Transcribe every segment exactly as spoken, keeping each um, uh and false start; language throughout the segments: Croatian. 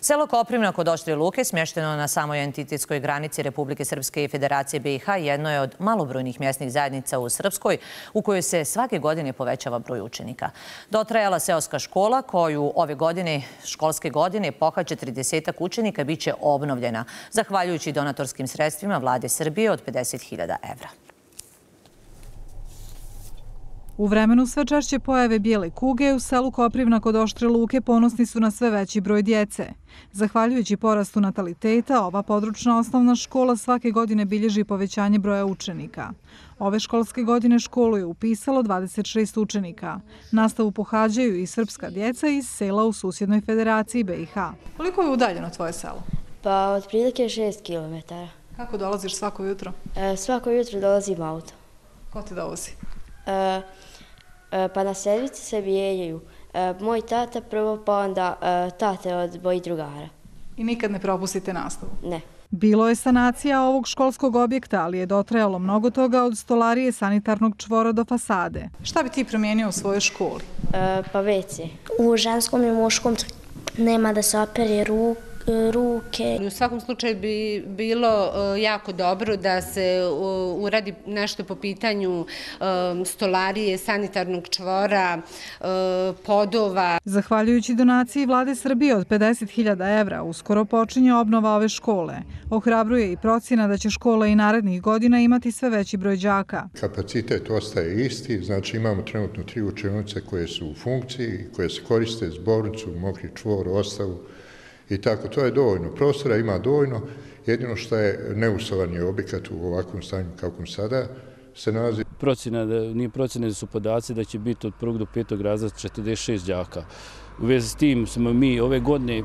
Selo Koprivna kod Oštrije Luke, smješteno na samoj entitetskoj granici Republike Srpske i Federacije B i H, jedno je od malobrojnih mjesnih zajednica u Srpskoj u kojoj se svake godine povećava broj učenika. Dotrajala seoska škola koju ove godine, školske godine, pohađa tridesetak učenika bit će obnovljena, zahvaljujući donatorskim sredstvima Vlade Srbije od pedeset hiljada evra. U vremenu sve češće pojave bijele kuge, u selu Koprivna kod Oštre Luke ponosni su na sve veći broj djece. Zahvaljujući porastu nataliteta, ova područna osnovna škola svake godine bilježi povećanje broja učenika. Ove školske godine školu je upisalo dvadeset šest učenika. Nastavu pohađaju i srpska djeca iz sela u susjednoj Federaciji B i H. Koliko je udaljeno tvoje selo? Pa otprilike šest kilometara. Kako dolaziš svako jutro? E, svako jutro dolazim auto. Ko te dovozi? E, e, pa na servici se mijenjaju. E, moj tata prvo, pa onda e, tate od mojih drugara. I nikad ne propustite nastavu? Ne. Bilo je sanacija ovog školskog objekta, ali je dotrajalo mnogo toga od stolarije, sanitarnog čvora do fasade. Šta bi ti promijenio u svojoj školi? E, pa ve ce. U ženskom i muškom nema da se opere ruke. ruke. U svakom slučaju bi bilo jako dobro da se uradi nešto po pitanju stolarije, sanitarnog čvora, podova. Zahvaljujući donaciji Vlade Srbije od pedeset hiljada evra, uskoro počinje obnova ove škole. Ohrabruje i procjena da će škola i narednih godina imati sve veći broj đaka. Kapacitet ostaje isti, znači imamo trenutno tri učionice koje su u funkciji, koje se koriste zbornicu, mokri čvor, ostavu. I tako, to je dovoljno. Prostora ima dovoljno, jedino što je neusovani objekat u ovakvom stanju kakvom sada se nalazi. Procjena, nije procjena, da su podaci da će biti od prvog do petog razreda četrdeset šest đaka. U vezi s tim smo mi ove godine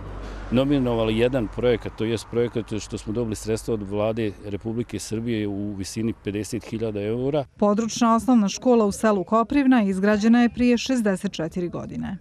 nominovali jedan projekat, to je projekat što smo dobili sredstva od Vlade Republike Srbije u visini pedeset hiljada eura. Područna osnovna škola u selu Koprivna izgrađena je prije šezdeset četiri godine.